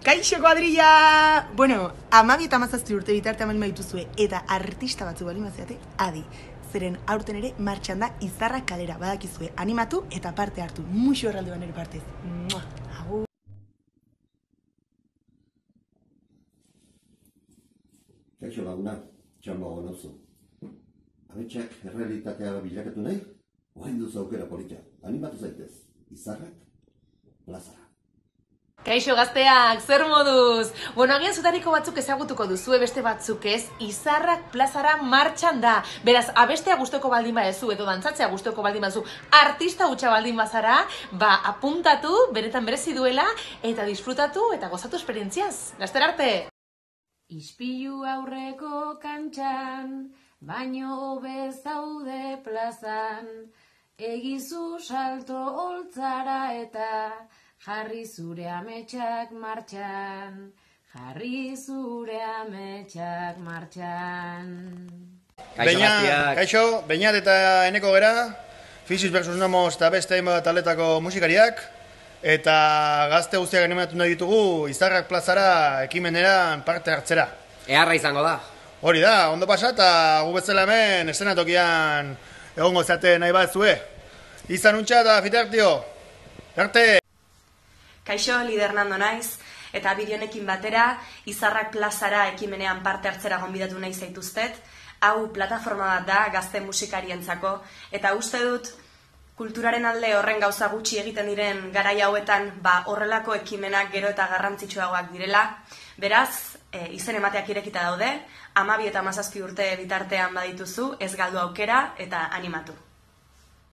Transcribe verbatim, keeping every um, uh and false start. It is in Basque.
Kaixo kuadrilla! Bueno, amabi eta amazazpi urte bitarte amalima dituzue eta artista batzu bali maziate, adi. Zeren aurten ere martxan da Izarrak kalera, badakizue, animatu eta parte hartu. Muxo erralde banere partez. Agur! Kaixo laguna, txamba gonozu. Abetxak errealitatea bilakatu nahi? Oain duzu aukera polita. Animatu zaitez. Izarrak plazara. Kaixo gazteak, zer moduz? Bueno, agian zutariko batzuk ezagutuko duzue, beste batzuk ez, Izarrak plazara martxan da. Beraz, abestea gustoko baldin badezu edo dantzatzea gustoko baldin badezu, artista hutsa baldin bazara, ba, apuntatu, benetan berezi duela, eta disfrutatu eta gozatu esperientziaz. Laster arte! Ispilu aurreko kantxan, baino hobe zaude plazan, egizu salto holtzara eta jarri zure ametsak martxan, jarri zure ametsak martxan. Kaixo gaztiak. Kaixo, Beñat eta Eneko gera, Physis versus Nomos eta beste hainbat taldetako musikariak, eta gazte guztiak animatu nahi ditugu Izarrak plazara ekimeneran parte hartzera. Eharra izango da. Hori da, ondo pasa eta gu betzela hemen eszenatokian egongo zate nahi bat zue. Izan untxa eta fitartio. Arte! Kaixo, Lider Nando naiz, eta bideonekin batera, Izarrak plazara ekimenean parte hartzera gonbidatu nahi zaituztet. Hau plataforma bat da gazte musikarientzako, eta uste dut kulturaren alde horren gauza gutxi egiten diren garai hauetan, ba horrelako ekimenak gero eta garrantzitsuagoak direla. Beraz, e, izen emateak irekita daude, amabi eta hamazazpi urte bitartean badituzu, ez galdu aukera eta animatu.